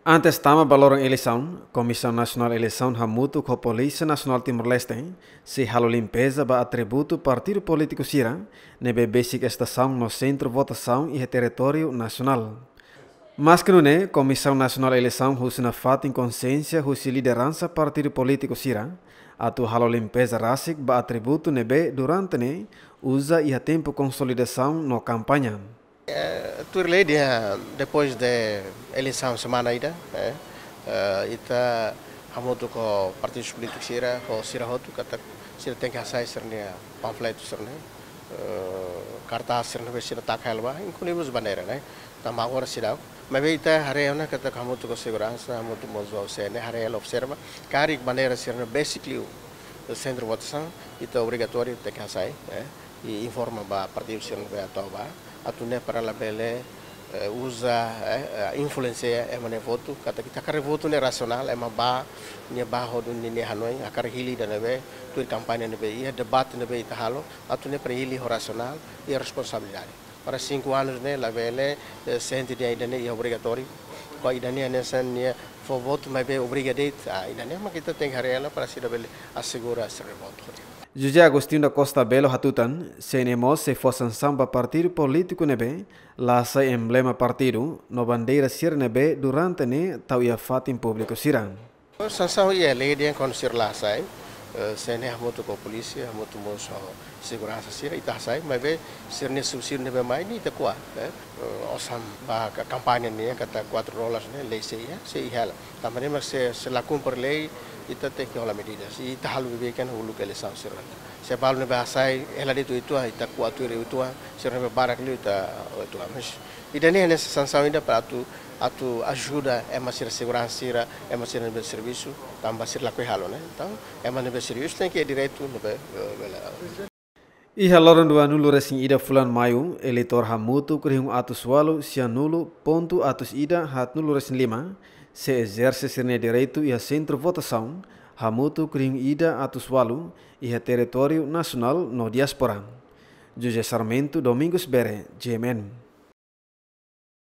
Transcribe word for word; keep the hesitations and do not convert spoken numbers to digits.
Antes tama ba loron eleisaun, Komisaun Nasionál Eleisaun hamutuk ho Polísia Nasionál Timor-Leste sei halo limpeza ba atributu partidu polítiku sira ne'ebé besik estasaun no sentru votasaun iha territóriu nasionál. Maske nune'e, Komisaun Nasionál Eleisaun husu nafatin konxiénsia husi lideransa partidu polítiku sira atu halo limpeza rasik ba atributu ne'ebé durante ne'e uza iha tempu konsolidasaun no kampaña. Eh, tuir lei, dia, depois de eleisaun semana ida, eh, eh, ita hamutuk ho partidu polítiku sira, ho sira hotu, katak sira tenke hasai sira-nia panfletu sira-ne'e, eh, kartás sira-ne'e, sira taka hela ba, inklui mós bandeira, ne'e. Tanba agora seidauk. Maibé ita haree ona katak hamutuk ho seguransa, hamutuk mós ho C N E, haree hela, observa, karik bandeira sira-ne'e besik liu sentru votasaun, ita obrigatóriu tenke hasai, eh, i informa ba partidu sira-ne'ebé atu ba, atu nune'e para labele, eh, uza, eh, eh, influensia ema nia votu, katak ita hakarak votu ne'e rasionál, ema ba, nia ba ho nia, nia hanoin, hakarak hili ida ne'ebé, tuir kampaña ne'ebé iha, debate ne'ebé ita halo, atu nune'e para hili ho rasionál i responsabilidade. Para cinco anos ne'e, labele, eh, sente dehan ida-ne'e iha obrigatóriu, ba ida-ne'e hanesan nia fó votu maibé obriga de'it, ah, ida-ne'e mak ita tenke haree hela para sira bele asegura sira-nia votu. José Agostinho da Costa Belo hatutan, C N E mós sei fó sansaun ba partidu polítiku ne'ebé la hasai emblema partidu no bandeira sira ne'ebé durante ne'e tau iha fatin públiku sira. Sansaun iha lei dehan kuandu sira la hasai, eh, C N E hamutuk ho polísia, hamutuk mós ho seguransa sira, ita hasai, maibé sira-nia subsídiu ne'ebé mai ne'e ita ko'a, eh, eh, osan ba ka-, kampaña nian katak quatro dólares ne'e, lei sei iha, sei iha hela. Tanba ne'e mak se, se la kumpre lei, ita tenke hola medidas. I ita halo bibi kan uluk eleisaun sira. Se balu ne'ebé hasai, hela de'it uitoan, ita ko'a tuir uitoan, sira ne'ebé barak liu ita uitoan. Mas ida-ne'e hanesan sansaun ida para atu, atu ajuda ema sira seguransa sira, ema sira ne'ebé servisu, tanba sira lakohi halo, ne'e. Entaun, ema ne'ebé servisu tenke direitu ne'ebé, eh, bele. Iha loron dua nulu resin ida fulan Maiu, eleitór hamutuk rihun atus ualu sia nulu pontu atus ida haat nulu resin lima sei ezerse sira-nia direitu iha sentru votasaun hamutuk rihun ida atus ualu iha territóriu nasionál no diáspora. José Sarmento, Domingos Bere, G M N.